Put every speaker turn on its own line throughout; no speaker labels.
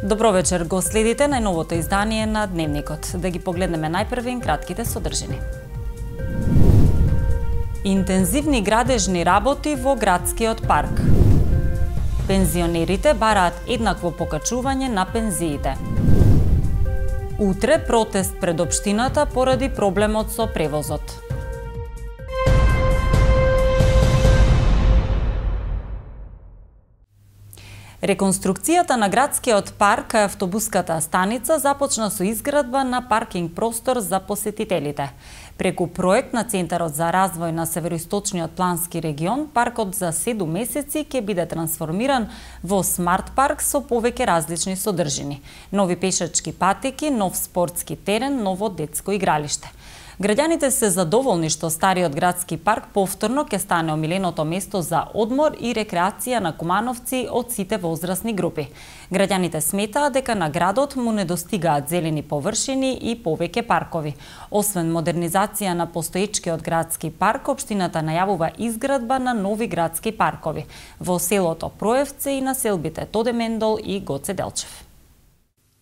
Добро вечер, го следите најновото издание на Дневникот. Да ги погледнеме најпрвен кратките содржини. Интензивни градежни работи во градскиот парк. Пензионерите бараат еднакво покачување на пензиите. Утре протест пред општината поради проблемот со превозот. Реконструкцијата на градскиот парк кај автобуската станица започна со изградба на паркинг простор за посетителите. Преку проект на Центарот за развој на Североисточниот плански регион, паркот за 7 месеци ќе биде трансформиран во смарт парк со повеќе различни содржини. Нови пешачки патеки, нов спортски терен, ново детско игралиште. Граѓаните се задоволни што стариот градски парк повторно ќе стане омиленото место за одмор и рекреација на кумановци од сите возрастни групи. Граѓаните сметаат дека на градот му недостигаат зелени површини и повеќе паркови. Освен модернизација на постоечкиот градски парк, општината најавува изградба на нови градски паркови во селото Проевце и населбите Тодемендол и Гоце Делчев.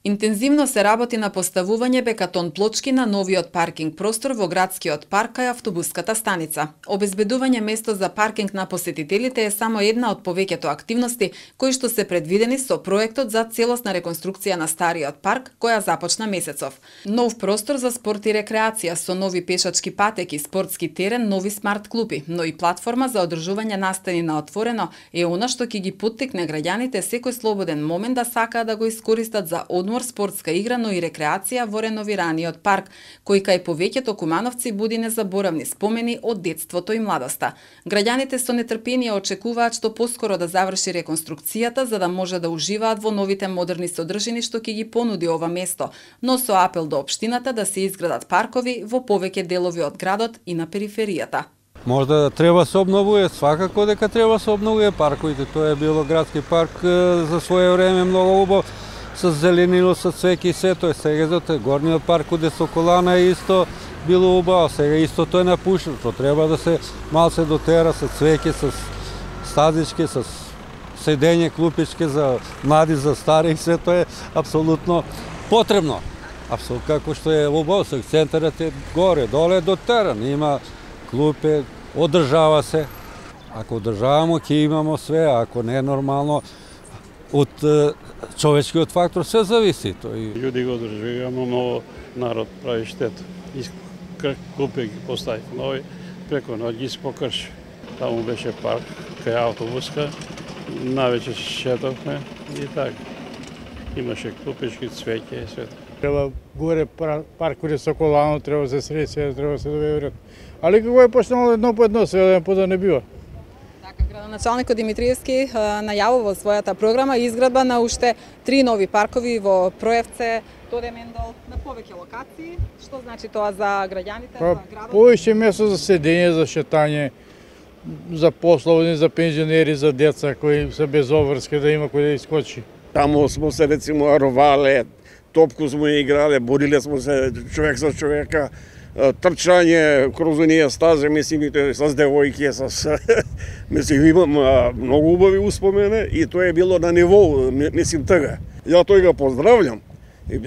Интензивно се работи на поставување бекатон плочки на новиот паркинг простор во градскиот парк кај автобуската станица. Обезбедување место за паркинг на посетителите е само една од повеќето активности кои што се предвидени со проектот за целосна реконструкција на стариот парк која започна месецов. Нов простор за спорт и рекреација со нови пешачки патеки, спортски терен, нови смарт клупи, но и платформа за одржување настани на отворено е она што ќе ги поттикне граѓаните секој слободен момент да сакаат да го искористат за одмор, спортска игра, но и рекреација во реновираниот парк, кој кај повеќето кумановци буди незаборавни спомени од детството и младоста. Граѓаните со нетрпение очекуваат што поскоро да заврши реконструкцијата за да може да уживаат во новите модерни содржини што ќе ги понуди ова место, но со апел до општината да се изградат паркови во повеќе делови од градот и на периферијата.
Можда треба се обновува, свакако дека треба се обновува парковите. Тоа е било градски парк за свое време многу убав, со зеленило, со цвеќе и се тоа. Сега горниот парк каде Соколана исто било убаво, сега исто тоа е напушено. Треба да се малце дотера со цвеќе, со стазички, со седење, клупички за млади, за стари и се тоа е апсолутно потребно. Апсолутно како што е убаво, со центарот е горе, доле до терен, има клупе, одржава се. Ако одржавамо, ќе имамо све, ако не е нормално, од човечкиот фактор се зависи.
Луѓе го одржаваме, но народ прави штета. Клупи ги постави нови, преку ноќ ги покрши. Таму беше парк, кај автобуска, навече шетовме и така. Имаше клупички, цвеќе и свето.
Треба горе парк каде Соколано, треба се среće, треба се доведат. Али како е почнало едно по едно, се да не бива.
Градоначалникот Димитриевски најавува во својата програма изградба на уште 3 нови паркови во Проевце, Тодемендол, на повеќе локации. Што значи тоа за граѓаните, за градот?
Повеќе место за седење, за шетање, за пословни, за пензионери, за деца кои се без обврска да има кој да искочи.
Таму смо се рецимо ровале, топку смо играле, бориле смо се човек за човека. Трчање кроз оние стази, мислим, со девојки, мислим, имам многу убави успомени и тоа е било на ниво, мислим, тага. Ја тој го поздравljam,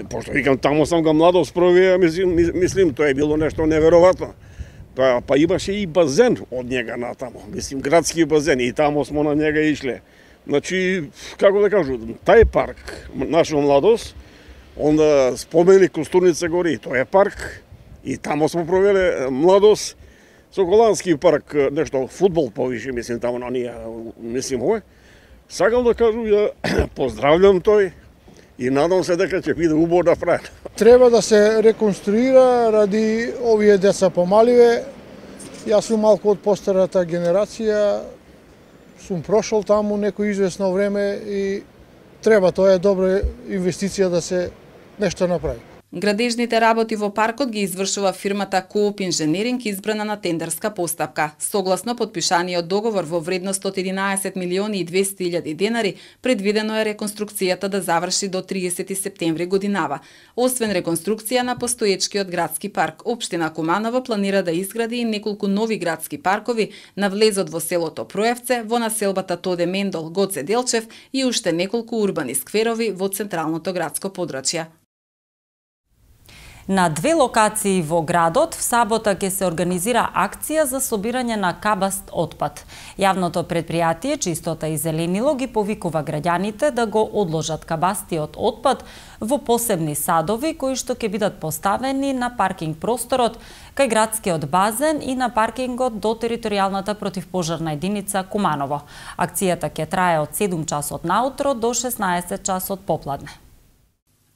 пошто викам, таму сам го младост провеа, мислим, тоа е било нешто неверојатно. Па имаше и базен од njega натаму, мислим, градски базен, и таму смо на njega ишле. Значи, како да кажу, тај парк, наша младост, онда спомени Костурница гори, тоа е парк, и тамо смо провеле младост, Соколански парк, нешто фудбал повише, мислим, тамо на ние, мислим, овој. Сакам да кажу, ја поздравljam тој и надам се дека ќе биде убаво да прави.
Треба да се реконструира ради овие деца помаливе. Јас сум малку од постарата генерација, сум прошол таму некој известно време и треба, тоа е добра инвестиција да се нешто направи.
Градежните работи во паркот ги извршува фирмата Кооп Инженеринг, избрана на тендерска постапка. Согласно подпишаниот договор во вредност од 11 милиони и 200 илјади денари, предвидено е реконструкцијата да заврши до 30 септември годинава. Освен реконструкција на постоечкиот градски парк, општина Куманово планира да изгради и неколку нови градски паркови на влезот во селото Проевце, во населбата Тоде Мендол, Гоце Делчев и уште неколку урбани скверови во централното градско подрачје.
На 2 локации во градот в сабота ќе се организира акција за собирање на кабаст отпад. Јавното предпријатие Чистота и зеленило ги повикува граѓаните да го одложат кабастиот отпад во посебни садови кои што ќе бидат поставени на паркинг просторот кај градскиот базен и на паркингот до територијалната противпожарна единица Куманово. Акцијата ќе трае од 7 часот наутро до 16 часот попладне.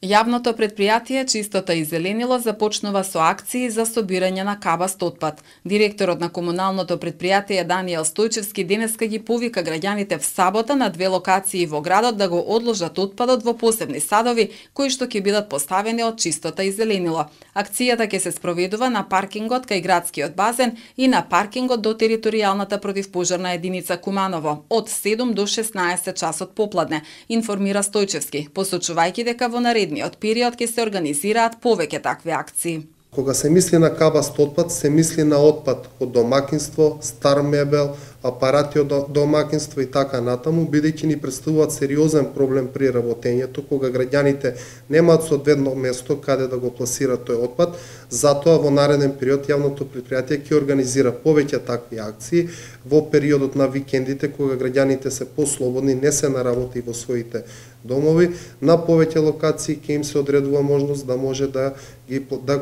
Јавното предпријатие Чистота и зеленило започнува со акции за собирање на кабаст отпад. Директорот на комуналното предпријатие Даниел Стојчевски денеска ги повика граѓаните в сабота на 2 локации во градот да го одложат отпадот во посебни садови кои што ќе бидат поставени од Чистота и зеленило. Акцијата ќе се спроведува на паркингот кај градскиот базен и на паркингот до територијалната противпожарна единица Куманово од 7 до 16 часот попладне, информира Стојчевски, посочувајќи дека во наредниот период ќе се организираат повеќе такви акции.
Кога се мисли на кабаст отпад, се мисли на отпад од домакинство, стар мебел, апарати од домакинство и така натаму, бидејќи ни представуваат сериозен проблем при работењето, кога граѓаните немаат соодветно место каде да го пласираат тој отпад. Затоа во нареден период јавното предпријатие ќе организира повеќе такви акции во периодот на викендите, кога граѓаните се послободни, не се на работа и во своите домови. На повеќе локации ќе им се одредува можност да може да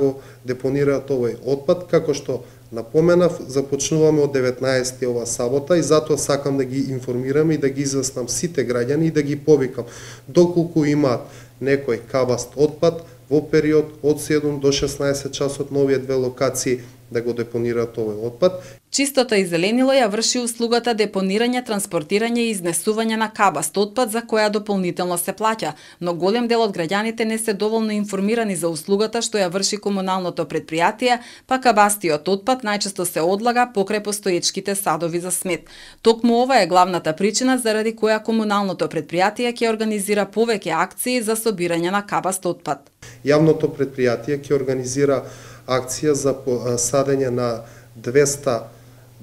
го депонираат овој отпад, како што напоменав, започнуваме од 19 ова сабота и затоа сакам да ги информирам и да ги известам сите граѓани и да ги повикам доколку имаат некој кабаст отпад во период од 7 до 16 часот на овие 2 локации да го депонираат овој отпад.
Чистота и зеленило ја врши услугата депонирање, транспортирање и изнесување на кабаст отпад за која дополнително се плаќа, но голем дел од граѓаните не се доволно информирани за услугата што ја врши комуналното предпријатие, па кабастиот отпад најчесто се одлага покрај постоечките садови за смет. Токму ова е главната причина заради која комуналното предпријатие ќе организира повеќе акции за собирање на кабаст отпад.
Јавното предпријатие ќе организира акција за садење на 200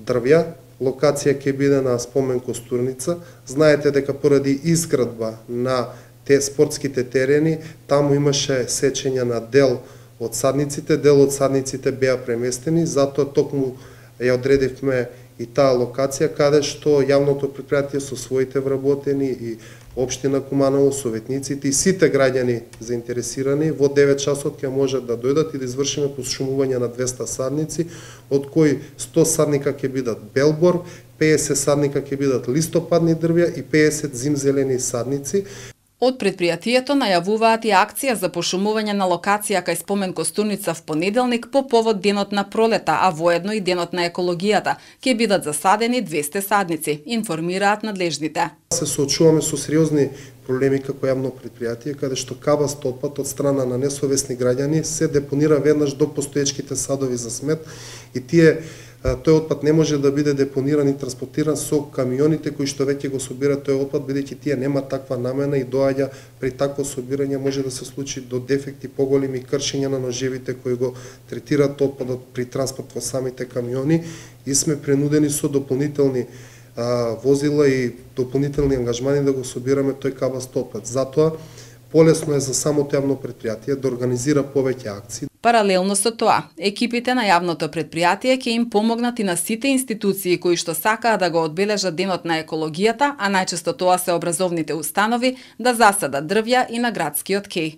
дрвја. Локација ќе биде на спомен Костурница. Знаете дека поради изградба на спортските терени, таму имаше сечење на дел од садниците беа преместени, затоа токму ја одредивме и таа локација каде што јавното предпријатие со своите вработени и општина Куманово, советниците и сите граѓани заинтересирани во 9 часот ќе можат да дојдат и да извршиме пошумување на 200 садници, од кои 100 садника ќе бидат белбор, 50 садника ќе бидат листопадни дрвја и 50 зимзелени садници.
Од предпријатието најавуваат и акција за пошумување на локација кај спомен Костурница в понеделник по повод денот на пролета, а воедно и денот на екологијата. Ќе бидат засадени 200 садници, информираат надлежните.
Се соочуваме со сериозни проблеми како јавно предпријатие, каде што кабаст отпад од страна на несовесни граѓани се депонира веднаш до постоечките садови за смет и тој отпад не може да биде депониран и транспортиран со камионите кои што веќе го собираат тој отпад, бидејќи тие немаат таква намена и доаѓа при такво собирање може да се случи до дефекти, поголеми кршења на ножевите кои го третираат отпадот при транспорт во самите камиони и сме принудени со дополнителни возила и дополнителни ангажмани да го собираме тој кабаст отпад. Затоа полесно е за самото јавно предпријатие да организира повеќе акции.
Паралелно со тоа, екипите на јавното предпријатие ќе им помогнат и на сите институции кои што сакаат да го одбележат денот на екологијата, а најчесто тоа се образовните установи, да засадат дрвја и на градскиот кеј.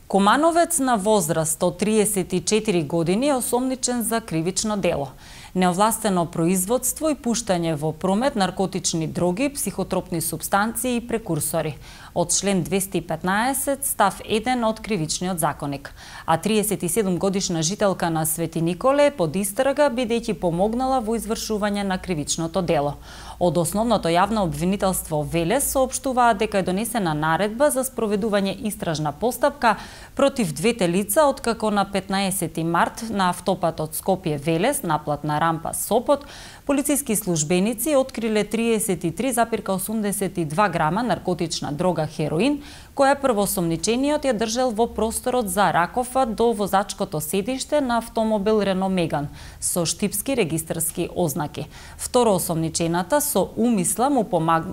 Кумановец на возраст од 34 години е осомничен за кривично дело. Неовластено производство и пуштање во промет наркотични дроги, психотропни супстанции и прекурсори. Од член 215 став 1 од Кривичниот законник. А 37 годишна жителка на Свети Николе е под истрага бидејќи помогнала во извршување на кривичното дело. Од Основното јавно обвинителство Велес соопштуваат дека е донесена наредба за спроведување истражна постапка против двете лица откако на 15 март на автопатот Скопје-Велес, наплатна рампа Сопот, полициски службеници откриле 33,82 грама наркотична дрога хероин, која првоосомничениот ја држал во просторот за Ракова до возачкото седиште на автомобил Рено Меган со штипски регистарски ознаки. Второосомничената со умисла му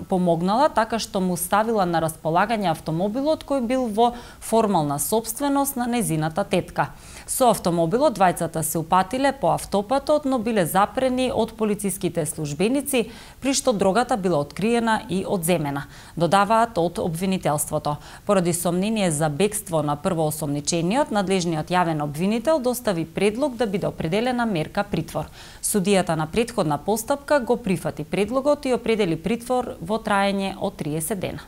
помогнала така што му ставила на располагање автомобилот кој бил во формална сопственост на незината тетка. Со автомобилот двајцата се упатиле по автопатот, но биле запрени од полициските службеници, при што дрогата била откриена и одземена, додаваат од обвинителството. Поради сомнение за бегство на првоосомничениот, надлежниот јавен обвинител достави предлог да биде определена мерка притвор. Судијата на претходна постапка го прифати предлогот и определи притвор во траење од 30 дена.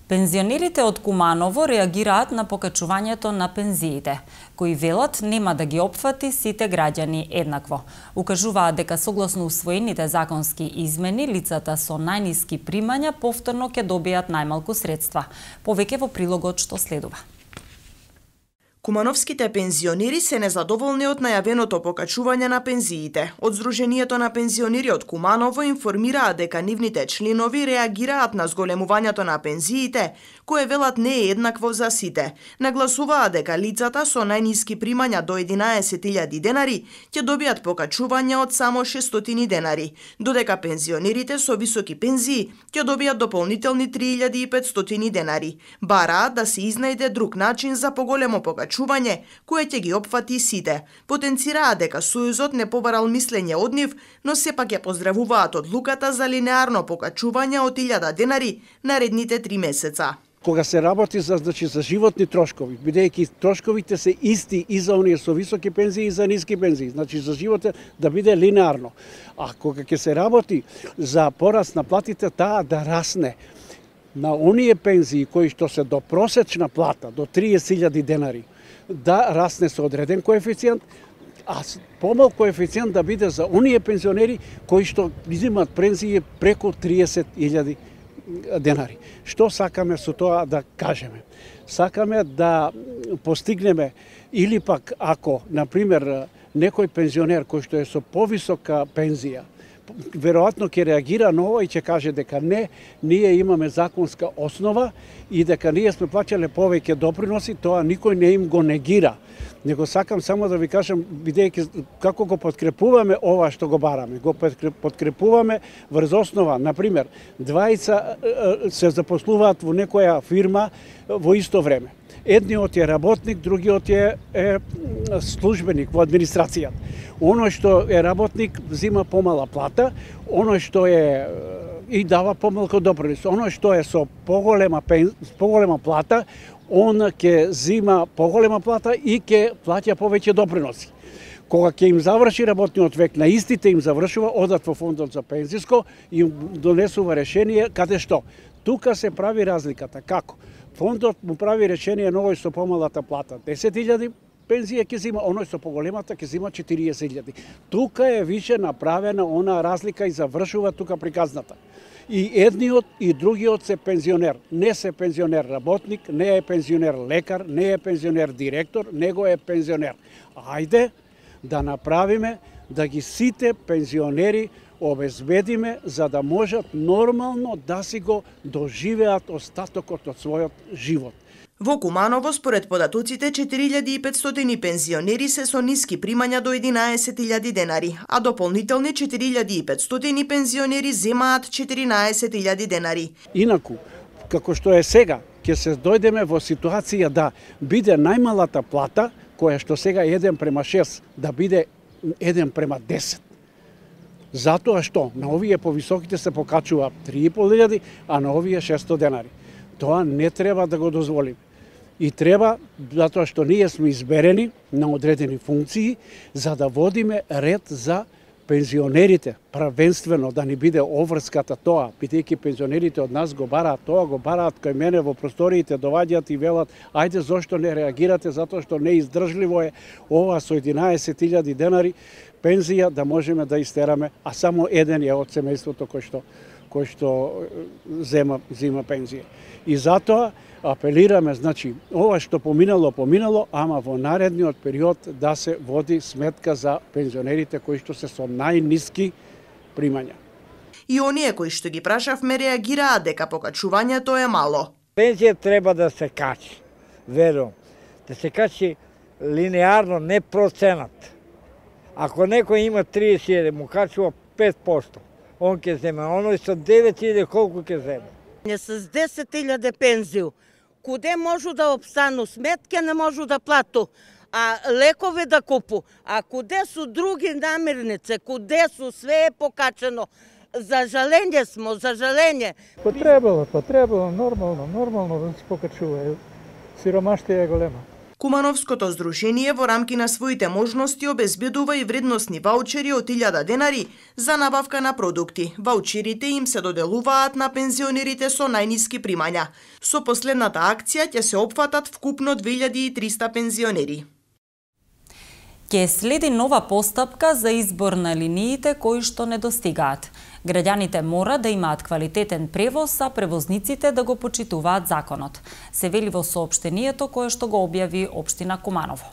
Пензионерите од Куманово реагираат на покачувањето на пензиите, кои велат нема да ги опфати сите граѓани еднакво. Укажуваат дека согласно усвоените законски измени, лицата со најниски примања повторно ќе добијат најмалку средства. Повеќе во прилогот што следува.
Кумановските пензионери се незадоволни од најавеното покачување на пензиите. Од Сдруженијето на пензионери од Куманово информираат дека нивните членови реагираат на зголемувањето на пензиите, кое велат не е еднакво за сите. Нагласуваат дека лицата со најниски примања до 11.000 денари ќе добијат покачување од само 600 денари, додека пензионерите со високи пензии ќе добијат дополнителни 3.500 денари. Бараат да се изнајде друг начин за поголемо покачување кое ќе ги опфати сите. Потенцираат дека Сојузот не побарал мислење од нив, но сепак ја поздравуваат одлуката за линеарно покачување од 1000 денари наредните 3 месеца.
Кога се работи за животни трошкови, бидејќи трошковите се исти и за оние со високи пензии и за ниски пензии, значи за животот да биде линеарно. А кога ќе се работи за пораст на платите, таа да расне на оние пензии кои што се до просечна плата, до 30.000 денари, да расне со одреден коефициент, а помал коефициент да биде за оние пензионери кои што изимаат пензии преку 30.000 денари. Што сакаме со тоа да кажеме? Сакаме да постигнеме или пак ако, например, некој пензионер кој што е со повисока пензија, веројатно ќе реагира на ова и ќе каже дека не, ние имаме законска основа и дека ние сме плаќале повеќе доприноси, тоа никој не им го негира. Него сакам само да ви кажам, бидејќи како го подкрепуваме ова што го бараме. Го подкрепуваме врз основа, например, двајца се запослуваат во некоја фирма во исто време. Едниот е работник, другиот е службеник во администрацијата. Оној што е работник зима помала плата, оној што е и дава помалку допринос. Оној што е со поголема плата, он ќе зима поголема плата и ќе плаќа повеќе доприноси. Кога ќе им заврши работниот век, на истите им завршува, одат во фондот за пензиско и им донесува решение каде што. Тука се прави разликата. Како? Фондот му прави решение на овој со помалата плата 10.000 пензија ќе зима, оној со поголемата ќе зима 40.000. Тука е више направена она разлика и завршува тука приказната. И едниот и другиот се пензионер. Не се пензионер работник, не е пензионер лекар, не е пензионер директор, него е пензионер. Ајде да направиме да ги сите пензионери обезбедиме за да можат нормално да си го доживеат остатокот од својот живот.
Во Куманово, според податоците, 4.500 пензионери се со ниски примања до 11.000 денари, а дополнителни 4.500 пензионери земаат 14.000 денари.
Инаку, како што е сега, ќе се дојдеме во ситуација да биде најмалата плата, која што сега е 1:6, да биде 1:10. Затоа што на овие повисоките се покачува 3.500, а на овие 600 денари. Тоа не треба да го дозволиме. И треба, затоа што ние сме изберени на одредени функции, за да водиме ред за пензионерите правенствено да ни биде обврската тоа, бидејќи пензионерите од нас го бараат тоа, го бараат кај мене во просториите, доваѓаат и велат, ајде зошто не реагирате, затоа што неиздржливо е ова со 11.000 денари пензија да можеме да истераме, а само еден е од семејството кој што зема пензија. И затоа апелираме, значи, ова што поминало, ама во наредниот период да се води сметка за пензионерите кои што се со најниски примања.
И оние кои што ги прашавме реагираат дека покачувањето е мало.
Пензија треба да се качи, верувам. Да се качи линеарно, не проценат. Ако некој има 30.000, му качува 5%. Он ќе земе, оној со 9.000 колку ќе земе?
Не с 10.000 пензију. Куде можу да обстану сметке, не можу да плату, а лекови да купу. А куде су други намирници, куде су, све е покачено. За жалење смо, за жалење.
Потребало, нормално да се покачува. Сиромаштија е голема.
Кумановското здружение во рамки на своите можности обезбедува и вредносни ваучери од 1000 денари за набавка на продукти. Ваучерите им се доделуваат на пензионерите со најниски примања. Со последната акција ќе се опфатат вкупно 2300 пензионери.
Ќе следи нова постапка за избор на линиите кои што недостигаат. Граѓаните мора да имаат квалитетен превоз, а превозниците да го почитуваат законот. Се вели во соопштението кое што го објави Општина Куманово.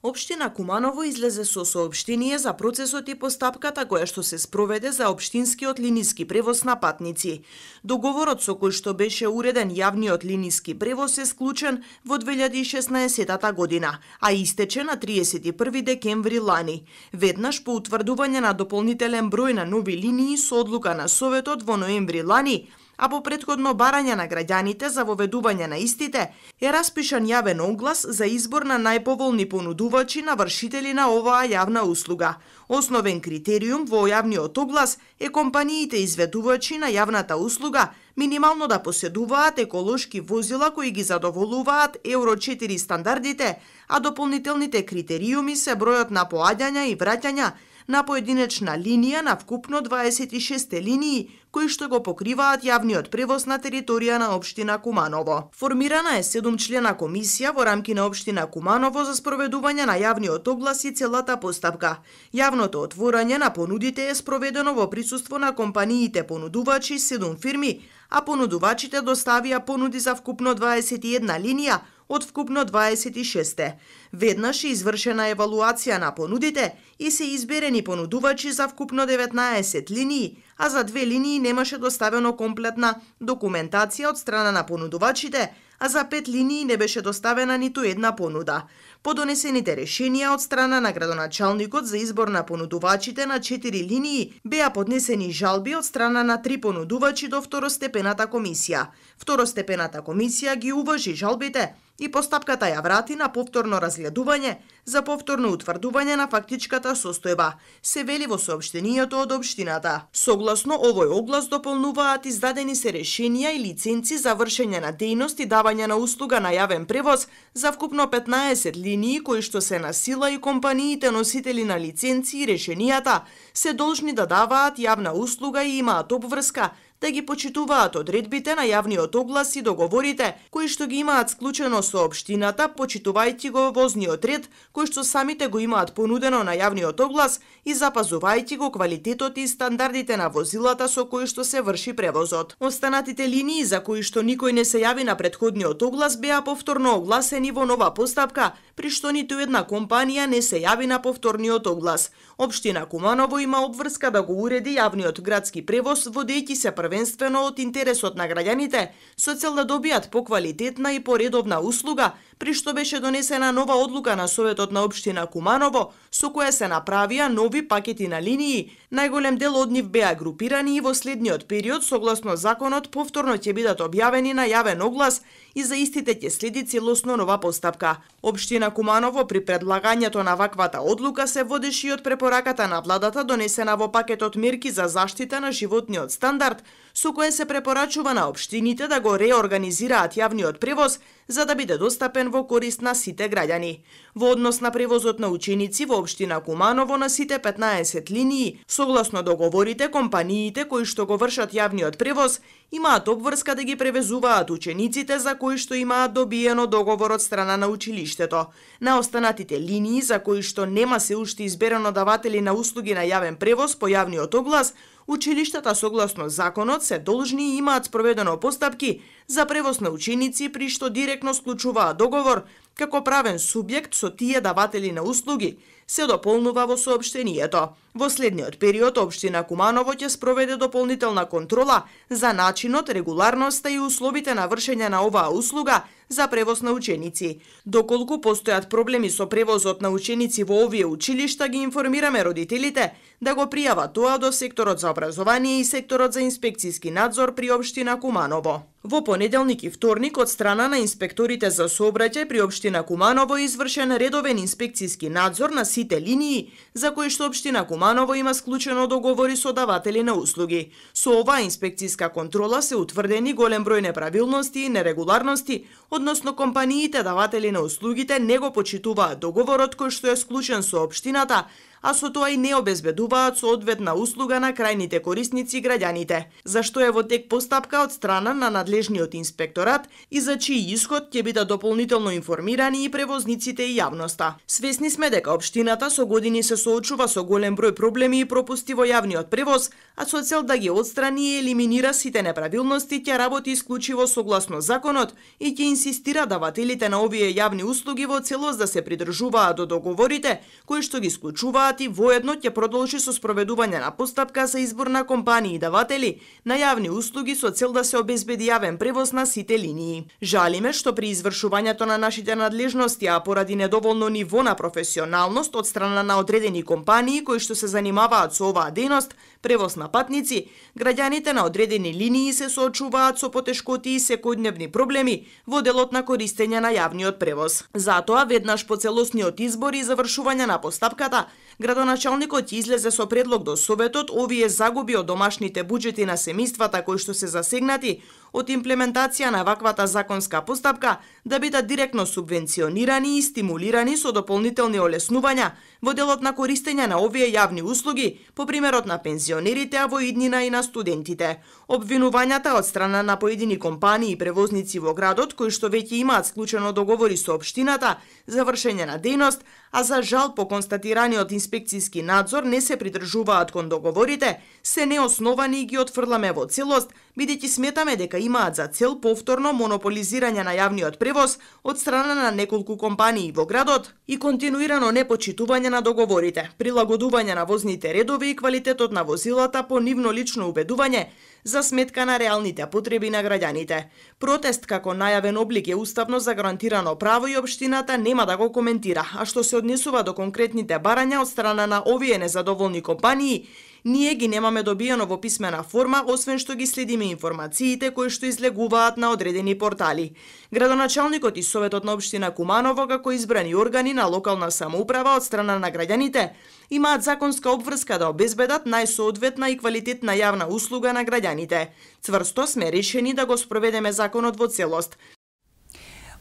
Општина Куманово излезе со соопштение за процесот и постапката која што се спроведе за општинскиот линиски превоз на патници. Договорот со кој што беше уреден јавниот линиски превоз е склучен во 2016 година, а истече на 31 декември лани. Веднаш по утврдување на дополнителен број на нови линии со одлука на Советот во ноември лани, а по претходно барање на граѓаните за воведување на истите, е распишан јавен оглас за избор на најповолни понудувачи на вршители на оваа јавна услуга. Основен критериум во јавниот оглас е компаниите изведувачи на јавната услуга минимално да поседуваат еколошки возила кои ги задоволуваат Евро 4 стандардите, а дополнителните критериуми се бројот на поаѓања и враќања на поединечна линија на вкупно 26 линии кои што го покриваат јавниот превоз на територија на Општина Куманово. Формирана е 7-члена комисија во рамки на Општина Куманово за спроведување на јавниот оглас и целата постапка. Јавното отворање на понудите е спроведено во присуство на компаниите понудувачи 7 фирми, а понудувачите доставија понуди за вкупно 21 линија од вкупно 26. Веднаш е извршена евалуација на понудите и се изберени понудувачи за вкупно 19 линии, а за 2 линии немаше доставено комплетна документација од страна на понудувачите, а за 5 линии не беше доставена ниту една понуда. По донесените решенија од страна на градоначалникот за избор на понудувачите на 4 линии беа поднесени жалби од страна на 3 понудувачи до второстепената комисија. Второстепената комисија ги уважи жалбите и постапката ја врати на повторно разгледување за повторно утврдување на фактичката состојба, се вели во соопштението од Општината. Согласно овој оглас дополнуваат издадени се решенија и лиценци за вршење на дејност и давање на услуга на јавен превоз за вкупно 15 линии кои што се на сила и компаниите носители на лиценци и решенијата се должни да даваат јавна услуга и имаат обврска да ги почитуваат одредбите на јавниот оглас и договорите кои што ги имаат склучено со Општината, почитувајќи го возниот ред кој што самите го имаат понудено на јавниот оглас и запазувајќи го квалитетот и стандардите на возилата со кои што се врши превозот. Останатите линии за кои што никој не се јави на претходниот оглас беа повторно огласени во нова постапка, при што ниту една компанија не се јави на повторниот оглас. Општина Куманово има обврска да го уреди јавниот градски превоз водејќи се првенствено од интересот на граѓаните со цел да добијат поквалитетна и поредовна услуга, при што беше донесена нова одлука на Советот на Општина Куманово со која се направија нови пакети на линии. Најголем дел од нив беа групирани и во следниот период согласно законот повторно ќе бидат објавени на јавен оглас и за истите ќе следи целосно нова постапка. Општина Куманово при предлагањето на ваквата одлука се водеше и од препораката на владата донесена во пакетот мерки за заштита на животниот стандард, со кое се препорачува на општините да го реорганизираат јавниот превоз за да биде достапен во корист на сите граѓани. Во однос на превозот на ученици во општина Куманово на сите 15 линии, согласно договорите, компаниите кои што го вршат јавниот превоз имаат обврска да ги превезуваат учениците за кои што имаат добиено договор од страна на училиштето. На останатите линии за кои што нема се уште изберено даватели на услуги на јавен превоз по јавниот оглас, училиштата согласно законот се должни и имаат спроведено постапки за превоз на ученици при што директно склучуваат договор како правен субјект со тие даватели на услуги, се дополнува во соопштението. Во следниот период општина Куманово ќе спроведе дополнителна контрола за начинот, регуларноста и условите на вршење на оваа услуга за превоз на ученици. Доколку постојат проблеми со превозот на ученици во овие училишта, ги информираме родителите да го пријават тоа до секторот за образование и секторот за инспекцијски надзор при општина Куманово. Во понеделник и вторник од страна на инспекторите за сообраќај при општина Куманово извршен редовен инспекцијски надзор на сите линии за кои што општина Куманово има склучено договори со даватели на услуги. Со оваа инспекцијска контрола се утврдени голем број неправилности и нерегуларности, односно компаниите даватели на услугите не го почитуваат договорот кој што е склучен со општината, а со тоа и не обезбедуваат соодветна услуга на крајните корисници граѓаните, зашто е во тек постапка од страна на надлежниот инспекторат и за чиј исход ќе бидат дополнително информирани и превозниците и јавноста. Свесни сме дека општината со години се соочува со голем број проблеми и пропусти во јавниот превоз, а со цел да ги отстрани и елиминира сите неправилности ќе работи исклучиво согласно законот и ќе инсистира давателите на овие јавни услуги во целост да се придржуваат до договорите кои што ги склучуваат и воедно ќе продолжи со спроведување на постапка за избор на компании и даватели на јавни услуги со цел да се обезбеди јавен превоз на сите линии. Жалиме што при извршувањето на нашите надлежности, а поради недоволно ниво на професионалност од страна на одредени компании кои што се занимаваат со оваа дејност, превоз на патници, граѓаните на одредени линии се соочуваат со потешкоти и секојдневни проблеми во делот на користење на јавниот превоз. Затоа, веднаш по целосниот избор и завршување на постапката, градоначалникот излезе со предлог до Советот овие загуби од домашните буџети на семејствата кои што се засегнати од имплементација на ваквата законска постапка да бидат директно субвенционирани и стимулирани со дополнителни олеснувања во делот на користење на овие јавни услуги, по примерот на пензионерите, а во иднина и на студентите. Обвинувањата од страна на поедини компании и превозници во градот кои што веќе имаат склучено договори со општината за вршење на дејност, а за жал по констатираниот инспекцијски надзор не се придржуваат кон договорите, се неосновани и ги отфрламе во целост, бидејќи сметаме дека имаат за цел повторно монополизирање на јавниот превоз од страна на неколку компании во градот и континуирано непочитување на договорите, прилагодување на возните редови и квалитетот на возилата по нивно лично убедување за сметка на реалните потреби на граѓаните. Протест како најавен облик е уставно загарантирано право и општината нема да го коментира, а што се однесува до конкретните барања од страна на овие незадоволни компании, ние ги немаме добиено во писмена форма, освен што ги следиме информациите кои што излегуваат на одредени портали. Градоначалникот и Советот на општина Куманово, како избрани органи на локална самоуправа од страна на граѓаните, имаат законска обврска да обезбедат најсоодветна и квалитетна јавна услуга на граѓаните. Цврсто сме решени да го спроведеме законот во целост.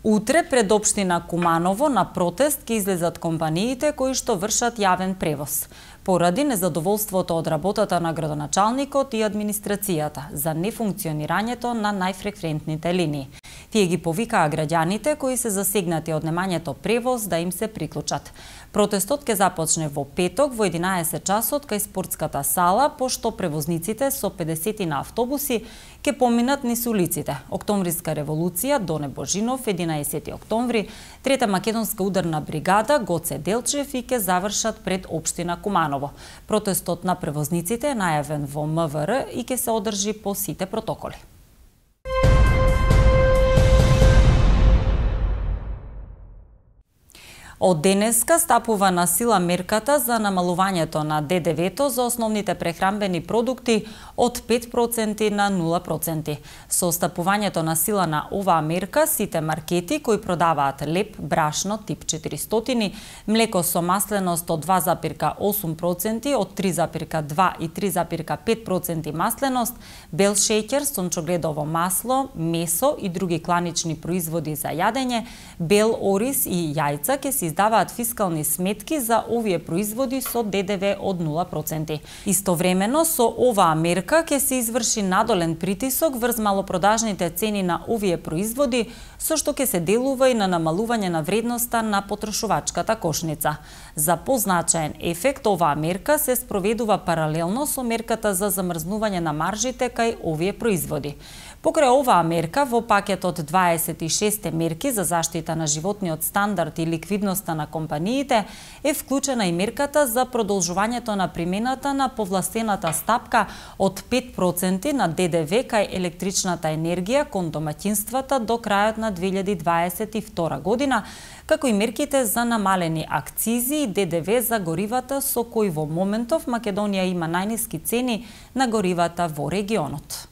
Утре пред општина Куманово на протест ќе излезат компаниите кои што вршат јавен превоз, поради незадоволството од работата на градоначалникот и администрацијата за нефункционирањето на најфреквентните линии. Тие ги повикаа граѓаните кои се засегнати од немањето превоз да им се приклучат. Протестот ќе започне во петок во 11 часот кај спортската сала, пошто превозниците со 50 на автобуси ќе поминат низ улиците. Октомвриска револуција, Доне Божинов, 11 октомври, Трета македонска ударна бригада, Гоце Делчев и ќе завршат пред општина Куманово. Протестот на превозниците е најавен во МВР и ќе се одржи по сите протоколи. Од денеска стапува на сила мерката за намалувањето на ДДВ-то за основните прехранбени продукти од 5% на 0%. Со стапувањето на сила на оваа мерка, сите маркети кои продаваат леп, брашно тип 400, млеко со масленост од 2,8%, од 3,2 и 3,5% масленост, бел шеќер, сончогледово масло, месо и други кланични производи за јадење, бел ориз и јајца ќе се издаваат фискални сметки за овие производи со ДДВ од 0%. Истовремено со оваа мерка ќе се изврши надолен притисок врз малопродажните цени на овие производи, со што ќе се делува и на намалување на вредноста на потрошувачката кошница. За позначаен ефект оваа мерка се спроведува паралелно со мерката за замрзнување на маржите кај овие производи. Покрај оваа мерка, во пакетот 26 мерки за заштита на животниот стандард и ликвидноста на компаниите, е вклучена и мерката за продолжувањето на примената на повластената стапка од 5% на ДДВ кај електричната енергија кон домаќинствата до крајот на 2022 година, како и мерките за намалени акцизи и ДДВ за горивата со кои во моментов Македонија има најниски цени на горивата во регионот.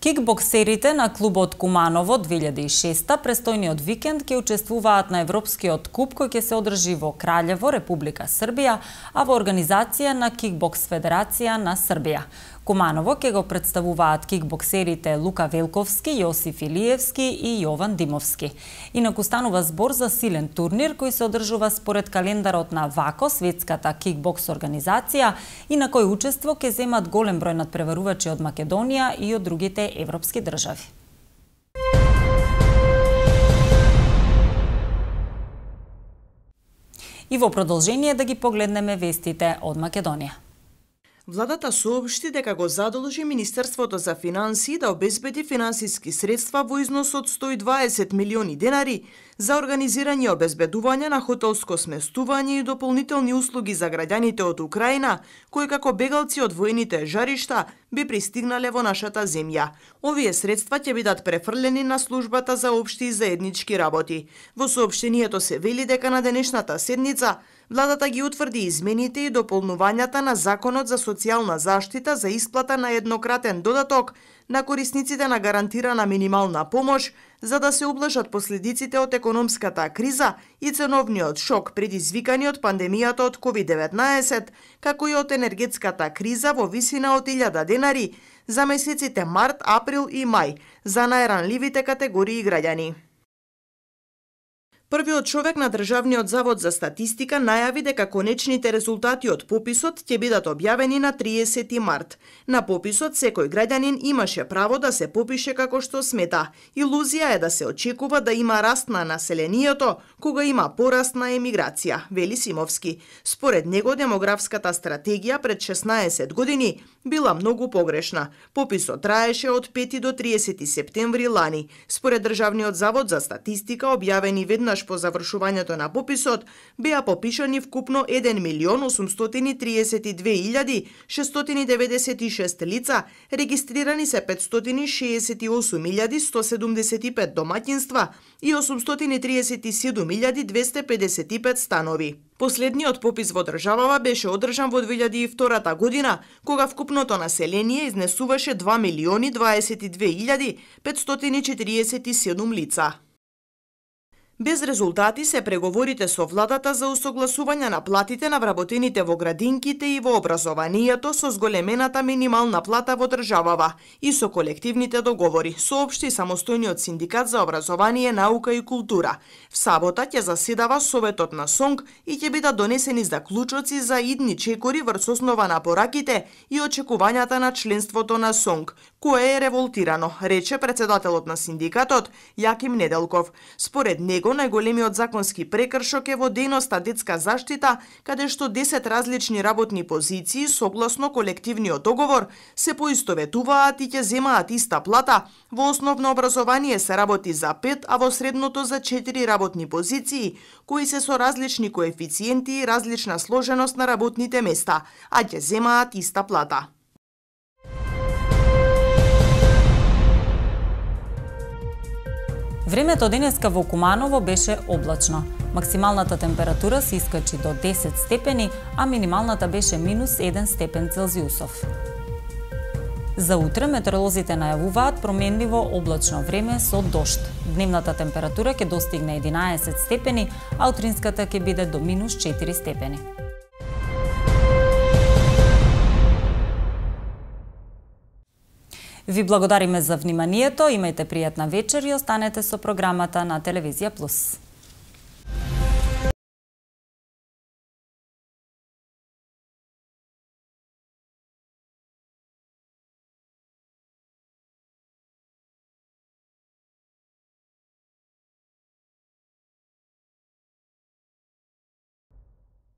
Кикбоксерите на клубот Куманово 2006 престојниот викенд ќе учествуваат на Европскиот куп кој ќе се одржи во Краљево, Република Србија, а во организација на Кикбокс Федерација на Србија. Куманово ќе го представуваат кикбоксерите Лука Велковски, Јосиф Илиевски и Јован Димовски. Инаку станува збор за силен турнир кој се одржува според календарот на ВАКО, светската кикбокс организација, и на кој учество ќе земат голем број надпреварувачи од Македонија и од другите европски држави. И во продолжение да ги погледнеме вестите од Македонија.
Владата соопшти дека го задолжи Министерството за финансии да обезбеди финансиски средства во износ од 120 милиони денари за организирање и обезбедување на хотелско сместување и дополнителни услуги за граѓаните од Украина, кои како бегалци од воените жаришта би пристигнале во нашата земја. Овие средства ќе бидат префрлени на службата за општи и заеднички работи. Во соопштението се вели дека на денешната седница владата ги утврди измените и дополнувањата на Законот за социјална заштита за исплата на еднократен додаток на корисниците на гарантирана минимална помош, за да се ублажат последиците од економската криза и ценовниот шок предизвикани од пандемијата од COVID-19, како и од енергетската криза во висина од 1000 денари за месеците март, април и мај за најранливите категории граѓани. Првиот човек на Државниот завод за статистика најави дека конечните резултати од пописот ќе бидат објавени на 30 март. На пописот секој граѓанин имаше право да се попише како што смета. Илузија е да се очекува да има раст на населението кога има пораст на емиграција, вели Симовски. Според него демографската стратегија пред 16 години била многу погрешна. Пописот траеше од 5 до 30 септември лани. Според Државниот завод за статистика, објавени веднаш по завршувањето на пописот, беа попишани вкупно 1.083.696 лица, регистрирани се 568.175 домаќинства и 837.255 станови. Последниот попис во државава беше одржан во 2002 година, кога вкупното население изнесуваше 2.022.547 лица. Без резултати се преговорите со владата за усогласување на платите на вработените во градинките и во образованието со зголемената минимална плата во државава и со колективните договори, соопшти самостојниот синдикат за образование, наука и култура. В сабота ќе заседава Советот на СОНГ и ќе бидат донесени заклучоци за идни чекори врз основа на пораките и очекувањата на членството на СОНГ, кое е револтирано, рече председателот на синдикатот Јаким Неделков. Според него најголемиот законски прекршок е во дејноста детска заштита, каде што 10 различни работни позиции согласно колективниот договор се поистоветуваат и ќе земаат иста плата. Во основно образование се работи за 5, а во средното за 4 работни позиции, кои се со различни коефициенти и различна сложеност на работните места, а ќе земаат иста плата.
Времето денеска во Куманово беше облачно. Максималната температура се искачи до 10 степени, а минималната беше минус 1 степен Целзиусов. За утре метеоролозите најавуваат променливо облачно време со дожд. Дневната температура ќе достигне 11 степени, а утринската ќе биде до минус 4 степени. Ви благодариме за вниманието, имајте пријатна вечер и останете со програмата на Телевизија Плюс.